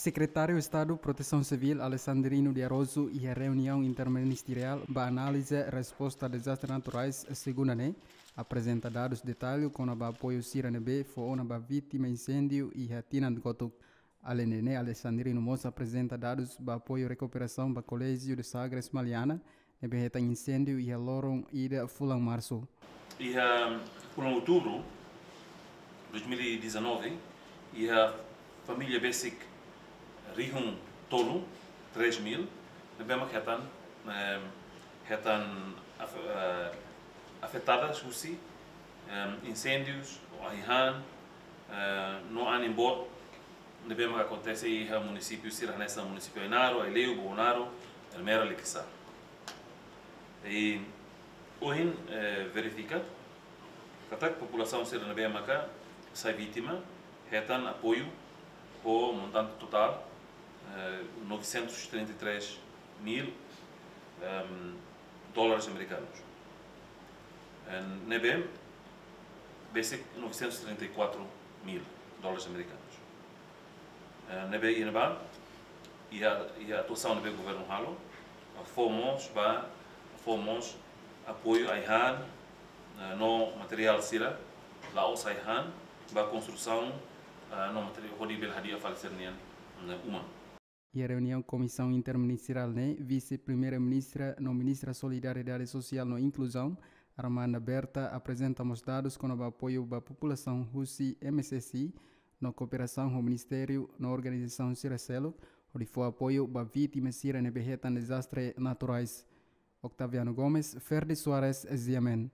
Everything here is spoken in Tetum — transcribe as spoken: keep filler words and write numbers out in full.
Sekretáriu Estadu Protesaun Sivíl, Alexandrino de Araújo, iha reuniaun interministeriál ba análize resposta a dezastre naturais, segunda ne'e, aprezenta dadus detallu kona-ba apoiu sira ne'ebé fó ona ba vítima insêndiu iha tinan kotuk. Aleinde ne'e, Alexandrino mós aprezenta dadus ba apoiu rekuperasaun ba Colégio de Sagres Maliana, ne'ebé hetan insêndiu iha loron ida fulan Marsu. Iha fulan Outubru dois mil e dezanove, iha família besik rihun tolu, três mil, ne'ebé mak hetan, em, hetan af-, eh, afetadas husi, em, insêndius, ai-han, eh, no anin boot, ne'ebé mak akontese iha munisípiu sira hanesan munisípiu Ainaro, Aileu, Bobonaro, Ermera, Likisá. I ohin, eh, verifika katak populasaun sira ne'ebé maka sai vítima hetan apoiu ho montante totál, eh, novecentos e trinta e três mil, ehm, dólares americanos. Eh, ne'ebé besik novecentos e trinta e quatro mil dólares americanos. Eh, ne'ebé iha ne'ebá, iha, iha atuasaun ne'ebé governu halo, fó mós ba, fó mós apoiu ai-han, eh, no materiál sira, la'ós ai-han, ba konstrusaun, eh, no materiál hodi bele hadi'a fali sira-nian, eh, uma. Iha reuniaun Komisaun Interministeriál ne'e, Vise-Primeira-Ministra no Ministra Solidariedade Sosiál no Inkluzaun, Armanda Berta, aprezenta mós dadus kona-ba apoiu ba populasaun husi M S S I, no kooperasaun ho ministériu no organizasaun sira seluk, hodi fó apoiu ba vítima sira ne'ebé hetan dezastre naturais. Octaviano Gomes, Ferdi Soares, Ziamen.